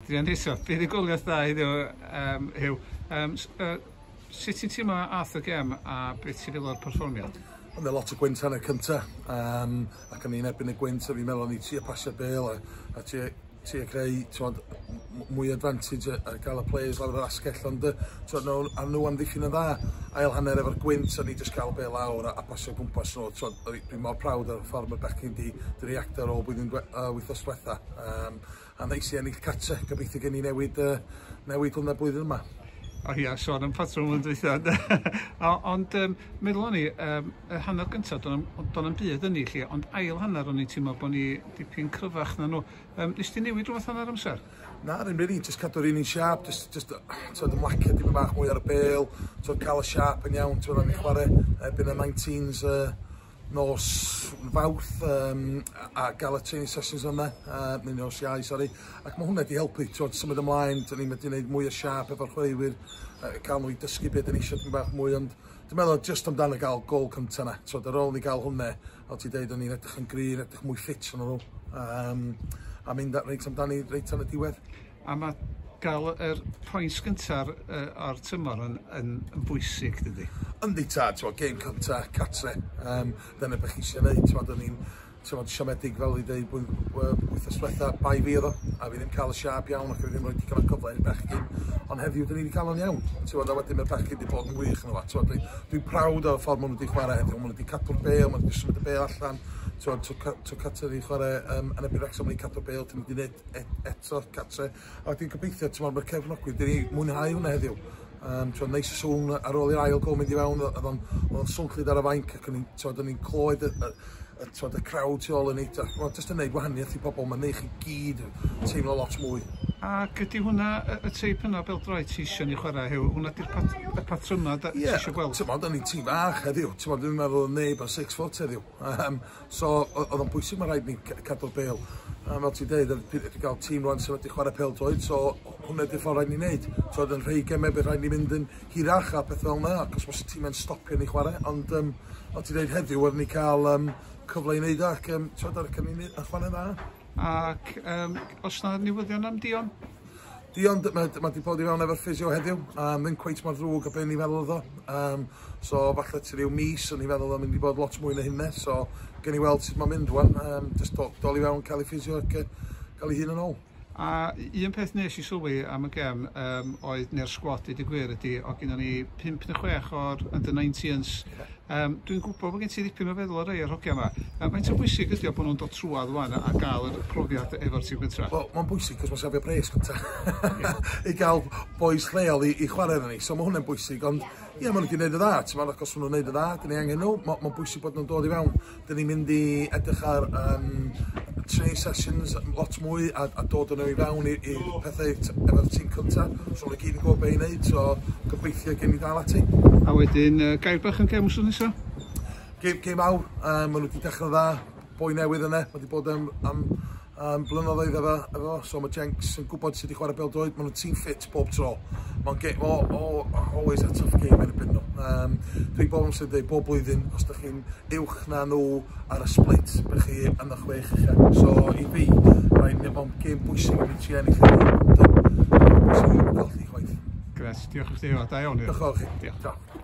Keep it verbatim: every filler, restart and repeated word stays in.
Adrian eto, buddugoliaeth dda heddiw, um, Huw. Um, uh, sut ti'n teimlo ath y gem a beth ti'n feddwl o'r perfformiad? Oedd e lot o gwynt hanner cynta, um, ac o'n i'n erbyn y gwynt, a fi'n meddwl o'n i trio pasio bêl a, a trio, trio creu t'mod, mwy advantage a, a gael y players lawr yr asgell, ond t'mod, nhw, a nhw amddiffyn yn dda. Ail hanner efo'r gwynt, a ni jyst cael bêl lawr a, a pasio gwmpas nhw. T'mod, dwi'n mor proud o'r ffordd mae bechgyn di, di reactio ar ôl blwyddyn uh, wythnos diwetha. Um, a neis i ennill cartre, gobeithio gen i newid, uh, newid hwnna blwyddyn yma. O ia, sôn am patrwm yn dweitha. Ond um, meddwl o'n i, um, y hanner gyntaf, do'n am byd yn ni lle, ond ail hanner o'n i'n teimlo bod ni dipyn cryfach na nhw. Um, nes ti newid rhywbeth hanner amser? Na, ddim really, just cadw'r un un siap, just, just t'od, ymlacio dim bach mwy ar y bêl, t'od, cael y siap yn iawn, t'od, o'n i chwarae erbyn y nineteens uh, nos Fawrth um, a gael y training sessions yna, uh, neu nos Iau, sori, ac mae hwnna wedi helpu, t'od, symud ymlaen, dyn ni'n wedi gwneud mwy o siap efo'r chwaraewyr, uh, cael nhw i dysgu beth dyn ni eisiau bach mwy, ond dwi'n meddwl just amdano gael gol cynta na, t'od, ar ôl ni gael hwnna, fel ti'n deud, o'n i'n edrych yn gry, edrych mwy ffit yn nhw, um, a mynd reit amdani reit am y diwedd. A mae gael yr pwynt gyntaf uh, o'r tymor yn, yn, yn bwysig, dydy? Yndi tad, ti'n gêm cynta, cartre, um, dyna beth chi eisiau gwneud, ti'n o'n i'n siomedig fel i dweud wythnos diwetha, bai fi oedd o, a fi ddim cael y siap iawn ac fi ddim rhoi digon o cyfle i'r bechgyn, ond heddiw dyn ni wedi cael o'n iawn, ti'n a wedyn mae'r bechgyn wedi bod yn wych yn yma, ti'n dwi'n proud o'r ffordd maen nhw wedi chwarae heddiw, maen nhw wedi cadw'r bêl, maen nhw wedi symud y bêl allan, ti'n tro cartre ni chwarae um, yn erbyn Wrexham, maen nhw wedi cadw'r bêl, dyn ni wedi gwneud et, eto cartre, a wedyn gobeithio, ti'n mae'r cefnogwyr, dyn ni mwynhau hwnna heddiw. Um, ti'n neis y sŵn ar ôl i'r ail gol mynd i fewn, oedd o'n swnllyd ar y fainc ac o'n i'n clywed y, y, y, y crowd tu ôl yn ei, mae'n jyst yn neud gwahaniaeth i pobl, mae'n neud chi gyd teimlo lot mwy. Ac ydy hwnna, y teip yna bêl-droed ti eisiau ni chwarae, Huw? Hwnna di'r pat, y patryma da, ti eisiau gweld? Ie, ti'n o'n i'n tîm bach heddiw, ti'n dwi'n meddwl oedd neb yn six foot heddiw. Um, so, oedd o'n bwysig, mae rhaid ni cadw'r bêl. Um, fel ti'n deud, wedi cael tîm rwan sydd wedi chwarae pêl-droed, so hwnna di'r ffordd rhaid ni wneud. So, oedd yn rhai gemau bydd rhaid ni mynd yn hirach a peth fel yna, ac os mae'r tîm yn stopio ni chwarae. Ond, um, fel ti'n deud heddiw, oedd ni cael um, cyfle i wneud ac um, ti'n ac yn ni'n chwarae dda. Ac um, os na newyddion am Dion? Dion, mae ma di bod i fewn efo'r ffisio heddiw, um, ddim cweit mor ddrwg a be ni'n feddwl oedd o. Um, so falle ti ryw mis, o'n i'n feddwl o'n mynd i bod lot mwy na hynny, so gen i weld sut mae'n mynd rwan. Um, just dol, dol i fewn, cael ei ffisio ac cael ei hun yn ôl. A un peth nes i sylwi am y gem um, oedd, neu'r sgwad i gwir ydy, o gynnon ni pump neu chwech o'r under nineteens. Um, dwi'n gwybod bod gen ti ddipyn o feddwl ar rei o'r hogia yma. Um, faint o bwysig ydy o bod nhw'n dod trwadd wan a gael yr profiad efo'r tîm gyntaf? Wel, mae'n bwysig cos mae'n safio pres gyntaf. I gael boys lleol i, i chwarae efo ni, so mae hwnna'n bwysig, ond ie, maen nhw wedi gwneud y dda, ti'n meddwl, ac os maen nhw'n gwneud y dda, dyn ni angen nhw, mae'n ma bwysig bod nhw'n dod i fewn. Dyn ni'n mynd i edrych ar um, training sessions lot mwy a, a dod â nhw i fewn i, i pethau efo'r tîm cyntaf, so nhw gyd yn gwybod beth i wneud, so gobeithio gen i ddal ati. A wedyn, uh, gair bach yn gem wsos nesaf? Gêm, gêm awr, um, maen nhw wedi dechrau dda, boi newydd yna, mae wedi bod am, am, am blynyddoedd efo, efo, so mae Jenks yn gwybod sut i chwarae bêl-droed, maen nhw'n team fit bob tro. Mae'n game, oh, oh, always a tough game yn erbyn nhw. Um, dwi'n bob amser yn dweud, bob blwyddyn, os ydych chi'n uwch na nhw ar y split, byddwch chi yn y chwech ucha. So i fi, mae'n gêm bwysig i fi tri ennill, ond mae'n bwysig i fi golli chwaith. Gret, diolch i chdi, da iawn. Diolch i chi. Diolch.